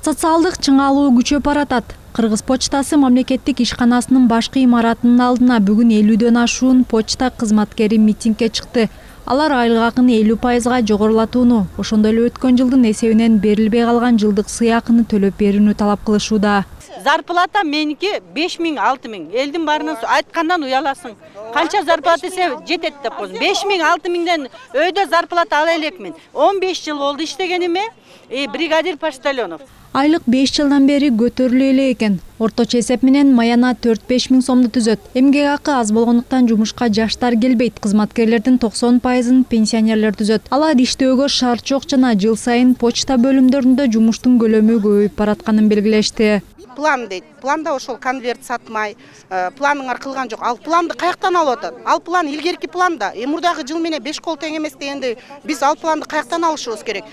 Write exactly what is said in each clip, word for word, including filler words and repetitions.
Социалдык чыңалуу күчөп баратат. Кыргыз почтасы мамлекеттик ишканасынын башкы имаратынын алдына бүгүн элүүдөн ашуун почта кызматкери митингге чыкты. Алар айлык акыны элүү пайызга жогорулатууну, ошондой эле өткөн жылдын эсебинен берилбей калган жылдык сый акыны төлөп берүүнү талап кылышууда. Зарплата меники беш миң алты миң. Элдин баарынан айткандан уяласың. Канча зарплата эсе жетет деп койсун. беш миң алты миңден өйдө зарплата ала элекмин. он беш жыл болду иштегениме, и бригадир почтальонов. Айлык беш жылдан бери көтөрүлө эле экен. Орточо эсеп менен маяна төрт беш миң сомду түзөт. Эмгек акы аз болгондуктан жумушка жаштар келбейт. Кызматкерлердин токсон пайызын пенсионерлер түзөт. Алар иштөөгө шарт жок жана жыл сайын почта бөлүмдөрүндө жумуштун көлөмү көбөйүп баратканын белгилешти. План дейт. Планда ошол конверт сатмай, планыңар кылган жок. Ал планды каяктан алып атат? Ал план илгерки планда. Мурдагы жыл менен беш кол тең эмес дегенде биз ал планды каяктан алышыбыз керек?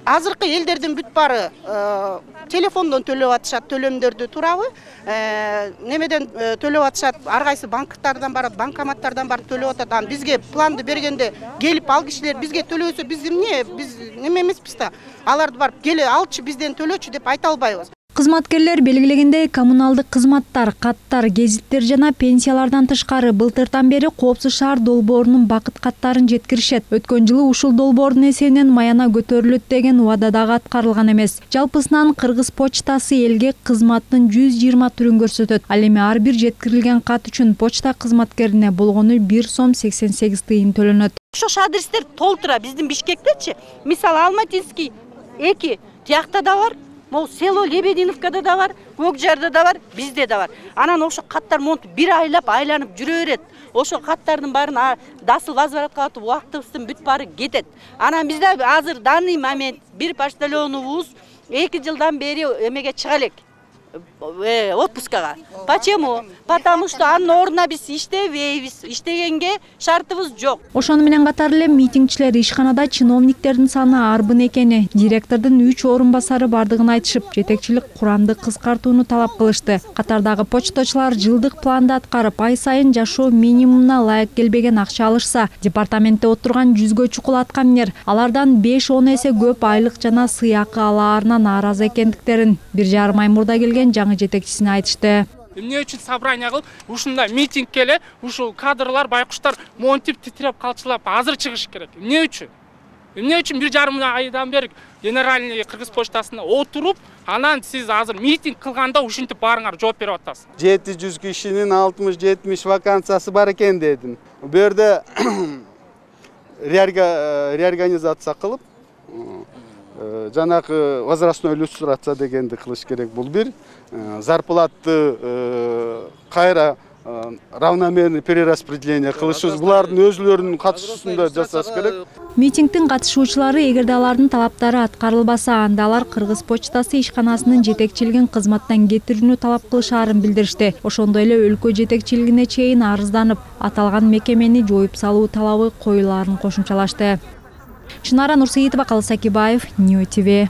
Азыркы элдердин бүт баары телефондон төлөп атышат төлөмдөрдү туурабы? Немеден төлөп атышат? Ар кайсы банктардан барат, банкоматтардан барып төлөп атат. Ан бизге планды бергенде келип ал кишилер бизге төлөсө биз эмне? Биз неме эмеспиз да? Аларды барып келе алчы бизден төлөчү деп айта албайбыз. Кызматкерлер белгилегендей коммуналдык кызматтар, каттар, гезиттер жана пенсиялардан тышкары былтыртан бери Коопсуз шаар долбоорунун бакыт каттарын жеткиришет. Өткөн жылы ушул долбоордун эсебинен маяна көтөрүлөт деген убада дагы аткарылган эмес. Жалпысынан Кыргыз почтасы элге кызматтын жүз жыйырма түрүн көрсөтөт. Ал эми ар бир жеткирилген кат үчүн почта кызматкерине болгону бир сом сексен сегиз тыйын төлөнөт. Ошол адрестер толтура биздин Бишкектечи. Мисалы Алматинский эки тиякта да бар. Могу село Лебединовкада да бар, Көкжарда да бар, бизде да бар. Анан ошо каттар монтип бир айлап айланып жүрө берет. Ошо каттардын баарын дасыл возвратка атып убактыбыздын бүт баары кетет. Анан бизде азыр данный момент бир почтальонубуз эки жылдан бери эмеге чыга элек. Отпускага. Почему? Потому что анын ордуна биз иштебейбиз. Иштегенге шартыбыз жок. Ошону менен катар эле митингчилер ишканада чиновниктердин саны арбын экени, директордун үч орун басары бардыгын айтышып, жетекчилик курамды кыскартууну талап кылышты. Катардагы почточулар жылдык планды аткарып, ай сайын жашоо минимумуна ылайык келбеген акча алышса, департаментте отурган жүзгө чукул аткаминер алардан беш он эсе көп айлык жана сый акы алаарына нааразы экендиктерин бир жарым ай мурда келген жаңы жетекчисине айтышты. Эмне үчүн собрание кылып, ушундай митинг келе, ушул кадрлар, байкуштар монтип титиреп калчылап азыр чыгыш керек. Эмне үчүн? Эмне үчүн бир жарым айдан бери генеральный Кыргыз почтасына отуруп, анан сиз азыр митинг кылганда ушинтип баарыңар жооп берип атасыз. жети жүз кишинин алтымыш жетимиш вакансиясы бар экен дедим. Бу жерде реорганизация кылып, жанагы возрастной иллюстрация дегенди кылыш керек. Бул бир зарплатты кайра равномерный перераспределение кылышыбыз, булардын өзүлөрүнүн катышуусунда жасаш керек. Митингдин катышуучулары эгерде алардын талаптары аткарылбаса, анда алар Кыргыз почтасы ишканасынын жетекчилигин кызматтан кетирүүнү талап кылышаарын билдиришти. Ошондой эле өлкө жетекчилигине чейин арызданып, аталган мекемени жоюп салуу талабы коюлаарын кошумчалашты. Чынара Нурсейитова, Калыс Акибаев, Нью ТВ.